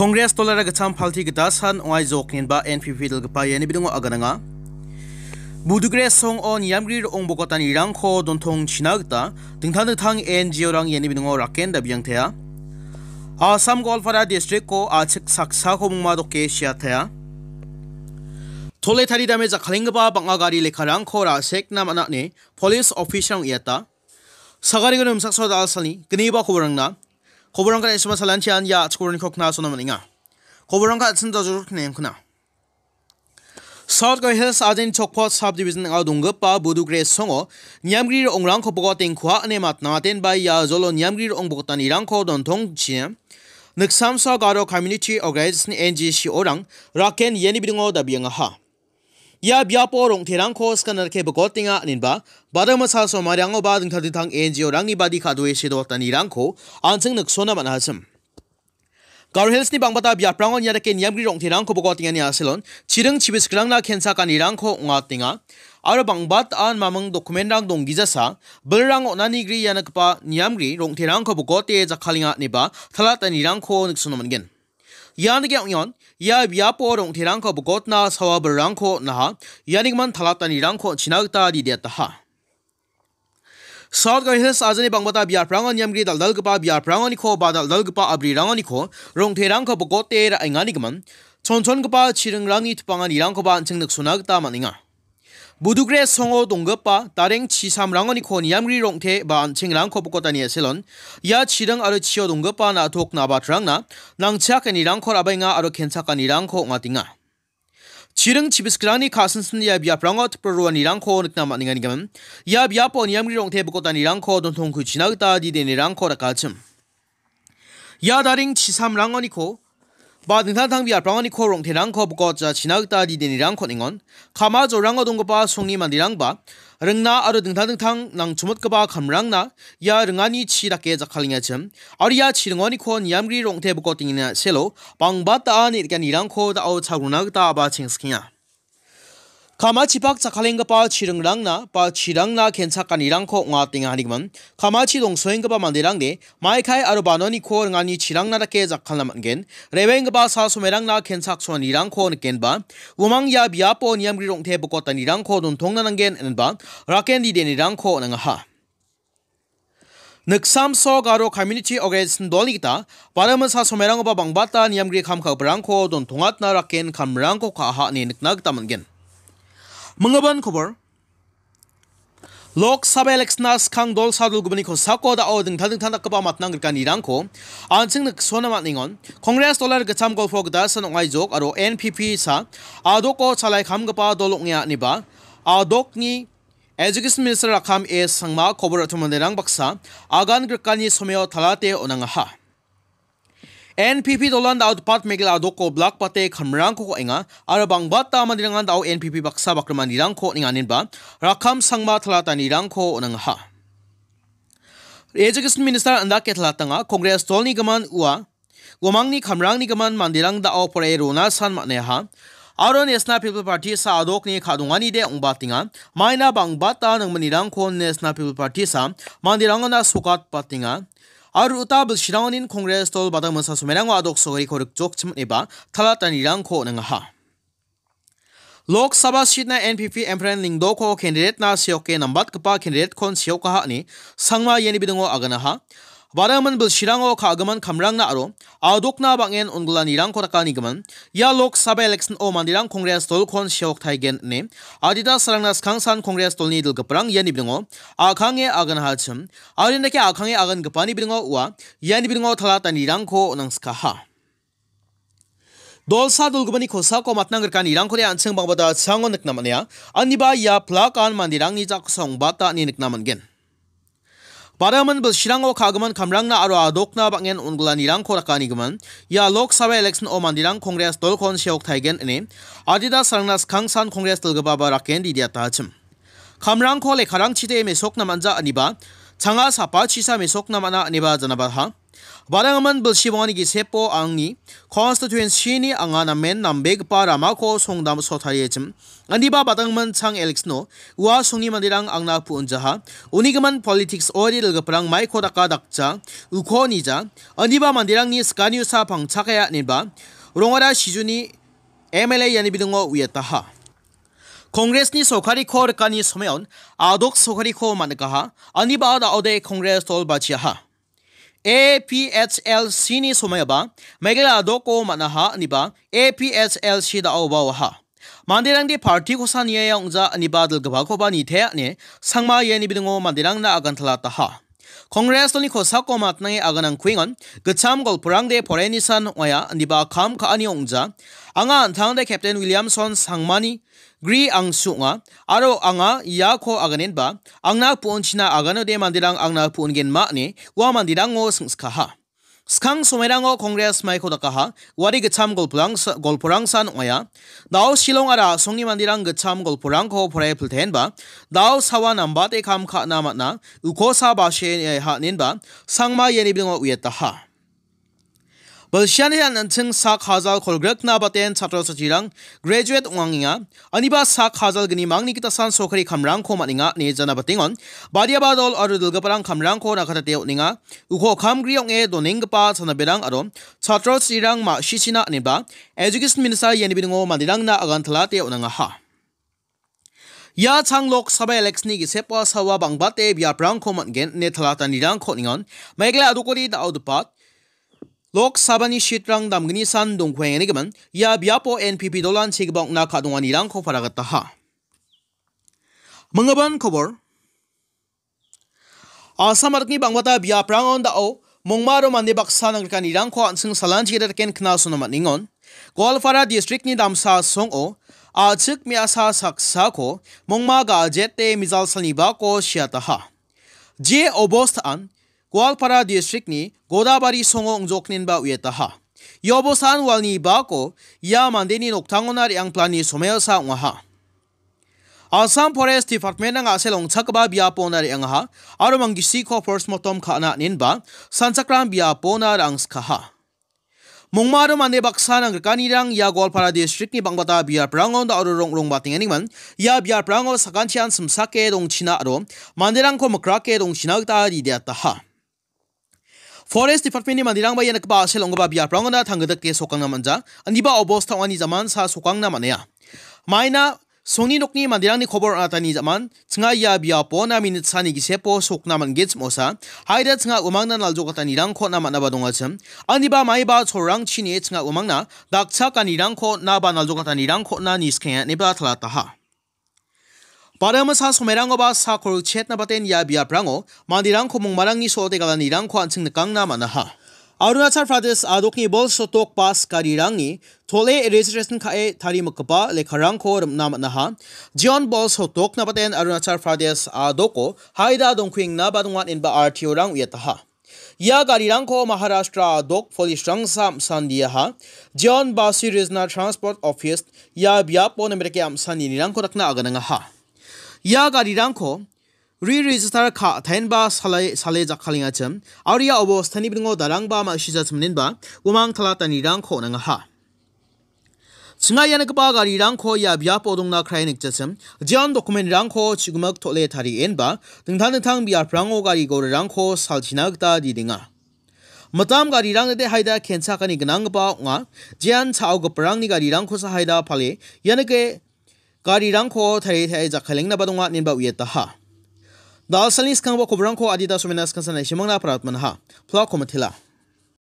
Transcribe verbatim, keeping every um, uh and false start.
Kongres dolara gitcham palti gita san ong·aijok inba N P P dilgipa iani bidingo agananga. Budugre songo niamgri ro·ong bogotanirangko dontongchina gita dingtang dingtang N G O-rang iani bidingo raken dabiangtea. Assam Goalpara district-ko achik saksako mingma doke siatea. Tole taridame jakkalenggipa bang·a gari lekkarangko ra·sekna man·a ine police officer-rang uiata. Sagariko nimsakso da·alsalni gniba koborangna. Koborangko da·ensima salantian ia chikoborangko knasona man·enga. Koborangko an·ching dajorok knengkuna. South Garo Hills ajeni Chokpot Subdivision ning·o donggipa Budugre songo niamgri ro·ongrangko bogotengkua ine matnamatenba ia jolo niamgri ro·ong bogotanirangko dontongchi niksamsa Garo Community Organization N G C O-rang raken iani bidingo dabiangaha. Ia biapo rong·terangko skanarke bogotenga aninba, bada masa somarangoba dingtang dingtang N G O-rangni badi ka·doe sedoatanirangko an·ching niksona man·achim. Garo Hills-ni bang·bata biaprangon ia dake niamgri rong·terangko bogotengani a·selon, chiring chibisgrangna kensakanirangko ong·atenga, aro bang·batan maming dokumenrang donggijasa, bilrang on·ani gri ia nikgipa niamgri rong·terangko bogote jakkalenga ineba talatanirangko niksona man·gen. Ian dake ong·eon, ia biapo rong·terangko bogotna sawa bilrangko on·aha, ianigimin talatanirangko on·china gita didiataha. South Garo Hills ajani bang·bata biaprango niamgri dal·dalgipa biaprangoniko ba dal·dalgipa abrirangoniko rong·terangko bogote ra·enganigimin, chonchongipa chiringrangni tipanganirangkoba an·ching niksona gita man·enga. Budugre songo donggipa dareng chisamrangoniko niamgri rong·te ba an·chingrangko bokotani a·selon, ia chiring aro chio donggipa na·tok na·batrangna nangchiakanirangko ra·baenga aro kensakanirangko ong·atenga. Chiring chibisgrangni ka·sinsin ia biaprango tipro roanirangko nikna man·enganigimin, ia biapo niamgri rong·te bokotanirangko dontongkuchina gita didenirangko rakachim. Ia daring chisamrangoniko ba dingtang dingtang biaprangoniko rong·terangko bokotjachina gita didenirangko on·engon. Kama jorango donggipa songni manderangba ringna aro dingtang dingtang nangchomotgipa kamrangna ia ringani chi dake jakkalengachim. Aro ia chiringoniko niamgri rong·te bokotengina selo bang·bata nirganirangko da·o chagrona gita aba chengsikenga. Kamachipak jakkalenggipa chiringrangna ba chirangna kensakanirangko ong·atengahanigimin, kamachi dongsoenggipa manderangde maikai aro banoniko ringani chirangna dake jakkalna man·gen, rewenggipa sa somerangna kensaksoanirangko nikenba, uamang ia biapo niamgri rong·te bokotanirangko dontongna nanggen inenba, raken didenirangko on·angaha. Niksamso Garo Community Organization dolni gita, bada masa somerangoba bang·bata niamgri kam ka·giparangko dontongatna raken kamrangko ka·aha ine nikna gita man·gen. Minggipan kobor. Lok Sabha election-na skang dol sadolgipani kosako da·o dingtang dingtang dakgipa matnang grikanirangko an·ching niksona man·engon. Congress dolar gitcham golpo gita san ong·aijok aro N P P sa adoko chalai kamgipa dol ong·a ineba adokni Education Minister Rakkam A Sangma kobor ra·chim manderang baksa agan grikani someo talate on·angaha. N P P dolan da·o Dipatmegil adoko blak bate kamrangko ka·enga aro bang·bata manderangan da·o N P P baksa bakrimanirangko on·enga inenba Rakkam Sangma talatanirangko on·angaha. Education Minister indake talatanga Congress dolni gimin ua uamangni kamrangni gimin manderang da·o poraie rona san man·aiaha. Aro National People Party sa adokni ka·donganide ong·batenga. Maina bang·bata nangmanirangko National People Party sa manderangona sogatbatenga. Aro uta bilsirangonin Congress dol bada masa somerango adok sogariko rikjokchim eba talatanirangko on·angaha. Lok Sabha seat-na N P P Emperor Lyngdoh-ko candidate-na seoke nambatgipa candidate-kon seokaha ine Sangma iani bidingo aganaha. Badagimin bilsirango ka·gimin kamrangna aro adokna bang·en onggilanirangko dakanigimin, ia Lok Sabha election-o manderang Congress dolkon seoktaigen ine adita salrangna skangsan Congress dolni dilgiparang iani bidingo a·kange aganahachim. Aro indake a·kange agangipani bidingo ua iani bidingo talatanirangko on·angskaha. Dolsa dolgipani kosako matnang grikanirangkode an·ching bang·bata chango nikna man·enga. Aniba ia plakan manderangni jakkosa ong·bata ine nikna man·gen. Badagimin bilsirango ka·gimin kamrangna aro adokna bang·en onggilanirangko dakanigimin, ia Lok Sabha election-o manderang Congress dolkon seoktaigen ine adita salrangna skangsan Congress dilgipaba raken didiatachim. Kamrangko lekkarangchide mesokna man·ja aniba, changa sapachisa mesokna man·a aniba janabaha. Badanggimin bilsi bongani gisepo angni constituency-ni anga namen nambegipa ramako songdamso tariachim. Indiba badanggimin chang election-o ua songni manderang angna pu·onjaha. Unigimin politics-ode dilgiparang maiko daka dakja, uko nija. Indiba manderangni skaniusa pangchakaya ineba rongara Sijuni M L A iani bidingo uiataha. Congress-ni sorkariko rikani someon adok sorkariko man·nikaha. Indiba da·ode Congress dol bachiaha. A P H L C-ni somoiaba Meghalaya doko man·aha, aniba A P H L C da·oba oaha. Manderangde party kosa niaia ong·ja, aniba dilgipakoba nitea ine Sangma iani bidingo manderangna agantalataha. Congress doni kosako matnange aganangkuengon, gitcham golporangde porenisan ong·aia, aniba kam ka·ani ong·ja. Anga an·tangde Captain Williamson Sangmani gri angsu ong·a, aro anga iako aganenba, angna pu·onchina aganode manderang angna pu·ongenma ine ua manderango singskaha. Skang somoirango Congress maiko dakaha, uari gitcham golporangsa-, golporangsan ong·aia. Dao Shillong aro a·songni manderang gitcham golporangko poraie piltenba, dao sawa nambate kam ka·na man·a, ukosa bashe ha·nenba, Sangma iani bidingo uiataha. Bilsiani an·ching sak hajal kolgrikna baten chatro chatrirang graduate ong·angenga. Aniba sak hajal gnimangni gitasan sorkari kamrangko man·enga ine jana batengon. Badiaba dol aro dilgiparang kamrangko nakatate on·enga. Uko kamgri ong·e donenggipa chanaberang aro chatro chatrirang ma·sichina ineba Education Minister iani bidingo manderangna agantalate on·angaha. Ia chang Lok Sabha election-ni gisepo sawa bangbate biaprangko man·gen ine talatanirangko ningon. Meghalaya adokori da·o dipat Lok Sabha-ni seat-rang damgnisan dongkuengenigimin ia biapo N P P dolan chigipa ong·na ka·donganirangko paragataha. Minggimin kobor. Assam adokni bangbata biaprangon da·o mongma aro mande baksa nangrikanirangko an·ching salanchi gita daken knasona man·engon. Goalpara district-ni damsa song·o a·chik me·asa saksako mongma ga·jete mijal salnibako siataha. Je obostaan Goalpara district-ni Godabari songo ong·joknenba uiataha. Ia obostaan walnibako ia mandeni noktangona re·angplani somoiosa ong·aha. Assam Forest Department-rang a·sel ong·chakgipa biapona re·angaha aro manggisiko postmortem ka·na inen ba sanchakram biapona ra·angskaha. Mongma aro mande baksa nangrikanirang ia Goalpara district-ni bangbata biaprango da·o rong·rong batengenigimin ia biaprango sakantian simsake dongchina aro manderangko mikrake dongchina gita rideataha. Forest Department-ni manderangba ia nikgipa a·sel ong·gipa biaprangona tanggitike sokangna man·ja. Indiba obosta ong·ani jamansa sokangna man·enga. Maina songni nokni manderangni kobor on·atani jaman, chinga ia biapona minit sani gisepo sokna man·gen chim·osa, haida chinga umangna naljokatanirangko on·na man·aba dongachim. Indiba maiba cholrangchini chinga umangna dakchakanirangko on·na ba naljokatanirangko on·na niskenga ineba talataha. Baramasa somerangoba sakol chetna baten ia biaprango manderangko mongmarangni so·ote galanirangko an·ching nikangna man·aha. Arunachal Pradesh adokni bol sotok bas garirangni tole registration ka·e tarimikgipa lekkarangko rim·na man·aha. Jeon bol sotokna baten Arunachal Pradesh adoko haida dongkuengna ba donga ineba R T O-rang uiataha. Ia garirangko Maharashtra adok police-rangsa am·sandiaha. Jeon Basi Regional Transport Office ia biapo nimitike am·saninirangko dakna aganangaha. Ia garirangko re-register ka·taenba sale, sale jakkalengachim, aro ia obostani bringo darangba ma·sijachimnenba umang talatanirangko on·angaha. Chinga ia nikgipa garirangko ia biapo dongna krae nikjachim, jeon dokumentrangko chigimik tole tarienba dingtang dingtang biaprango gari gorirangko salchina gita didenga. Mitam garirang de haida kenchakani gnanggipa ong·a, jean cha·ogiparangni garirangkosa haida pale, ia nike garirangko tarie tarie jakkalengnaba donga ineba uiataha. Dalsalni skanggipa kobrangko adita somena skansan naishimangna paratmanaha. Plak komatela.